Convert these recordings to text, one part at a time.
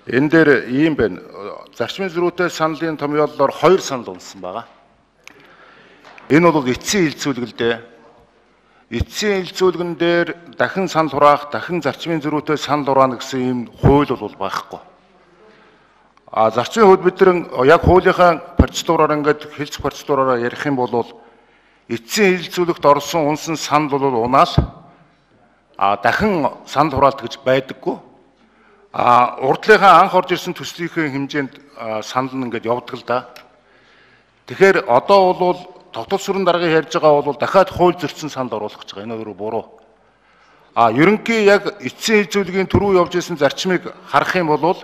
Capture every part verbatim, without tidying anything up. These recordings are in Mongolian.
Энэ дээр ийм байна. Зарчмын зөрүүтэй саналын томьёоллоор хоёр санал унсан байгаа. Энэ бол эцсийн хилцүүлэг л дээ. Эцсийн хилцүүлгэн дээр дахин санал хураах, дахин зарчмын зөрүүтэй санал хураана гэсэн ийм хууль бол байхгүй. А зарчмын хувьд бид нар яг хуулийнхаа процедураар ингээд хэлц процедураараа ярих юм бол эцсийн хилцүүлэгт орсон унсан санал бол унаал а дахин санал хураалт гэж байдаггүй. А урдлынхаа анх орж ирсэн төслийнхээ хэмжээнд санал нь ингээд явдаг л да. Тэгэхээр одоо бол тогтвол сүрэн даргыг ярьж байгаа бол дахиад хууль зөрчсөн санал оруулах гэж байгаа. Энэ өөрөө буруу. А ерөнхий яг эцсийн хилцүүлгийн түрүү явж исэн зарчмыг харах юм бол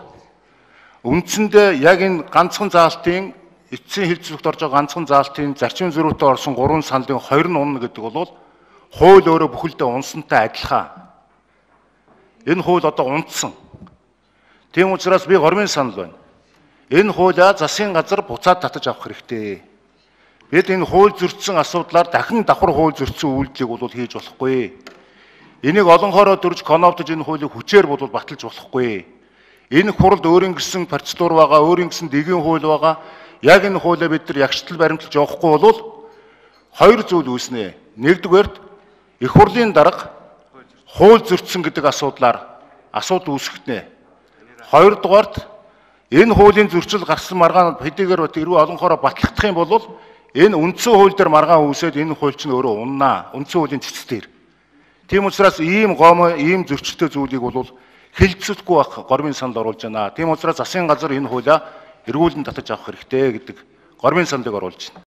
үндсэндээ яг энэ ганцхан заалтын эцсийн хилцүүлэгт орж байгаа ганцхан заалтын зарчмын зөрүүтэй орсон гурван саналын хоёр нь унна гэдэг бол хууль өөрөө бүхэлдээ унсантай адилхан. Энэ хууль одоо унтсан. Тийм учраас би гормын санал байна. Энэ хуулиа засгийн газар буцаад татаж авах хэрэгтэй. Бид энэ хууль зөрчсөн асуудлаар дахин давхар хууль зөрчсөн үйлдэлийг бол хийж болохгүй. Энийг олонхороо дөрж конновтож энэ хуулийг хүчээр бол баталж болохгүй. Энэ хуралд өөрийн гэсэн процедур байгаа, өөрийн гэсэн дэгийн хууль байгаа. Яг энэ хуулиа бид нар ягштал баримтлаж явахгүй бол хоёр зүйл үүснэ. Нэгдүгээрт их хурлын дарга хууль зөрчсөн гэдэг асуудлаар асуудал үүсгэнэ. Хоёрдугаарт энэ хуулийн зөрчил гарсан маргаан хэдийгээр тэрвээ олонхороо батлагдах юм бол энэ үндсэн хууль дээр маргаан үүсээд энэ хууль чинь өөрөө уннаа. Үндсэн хуулийн цэцтэр. Тийм учраас ийм гом, ийм зөрчилтэй зүйлийг бол хэлцэхгүй байх гормын санал оруулж байна. Тийм учраас засгийн газар энэ хуулиа эргүүлэн татаж авах хэрэгтэй гэдэг гормын саналыг оруулж байна.